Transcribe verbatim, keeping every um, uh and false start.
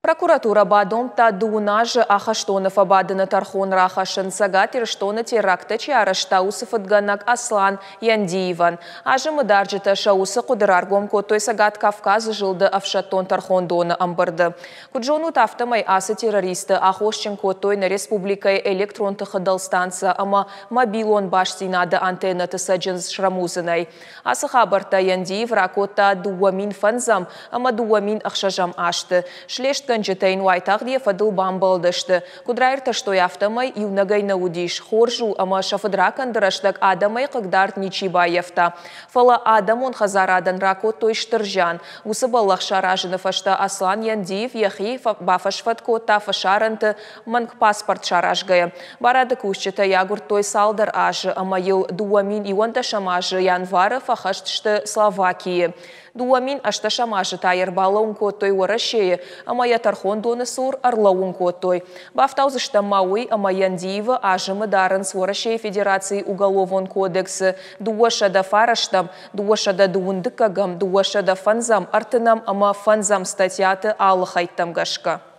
Прокуратурӕ бадомдта дыууын азы ахӕстоны фӕбадыны тӕрхон рахӕссын, Цӕгат Ирыстоны теракттӕ чи арӕзта, уыцы фыдгӕнӕг Аслан Яндиевӕн. Азымы дарджытӕ сӕ уыцы хъуыды раргом кодтой Цӕгат Кавказы зылды ӕфсӕддон тӕрхондоны ӕмбырды. Куыд зонут, афтӕмӕй ацы террористы аххосджын кодтой нӕ республикӕйы электрон тыхы дӕлстанцӕ ӕмӕ мобилон бастдзинады антеннӕты цӕджындз срӕмудзынӕй. Ацы хабӕрттӕ Яндиев ракодта дыууӕ мин фӕндзӕм ӕмӕ дыууӕ мин ӕхсӕзӕм азты. Слестгӕнджытӕ йын уайтагъд йӕ фӕдыл бамбӕлдысты. Куыд раиртӕстой, афтӕмӕй иунӕгӕй нӕ уыдис. Хорз у, ӕмӕ сӕ фыдракӕнды рӕстӕг адӕмӕй хъыгдард ничи баййӕфта. Фӕлӕ адӕмон хӕдзарадӕн ракодтой стыр зиан. Уыцы бӕллӕх саразыны фӕстӕ Аслан Яндиев йӕхи бафӕсфӕд кодта фӕсарӕнты, мӕнг паспорт саразгӕйӕ. Барады кусджытӕ йӕ агуырдтой цалдӕр азы ӕмӕ йыл дыууӕ мин иуӕндӕсӕм азы январы фӕхӕст сты Словакийы. Дыууӕ мин ӕстдӕсӕм азы та йӕ ӕрбалӕууын кодтой Уӕрӕсейы ӕмӕ йӕ тӕрхондоны цур ӕрлӕууын кодтой. Бафтаудзыстӕм ма уый, ӕмӕ Яндиевы азымы дарынц Уӕрӕсейы Федерацийы Уголовон кодексы дыууӕсӕдӕ фарӕстӕм, дыууӕсӕдӕ дыууын дыккӕгӕм, дыууӕсӕдӕ фӕндзӕм, ӕртынӕм ӕмӕ фӕндзӕм статьяты алы хӕйттӕм гӕсгӕ.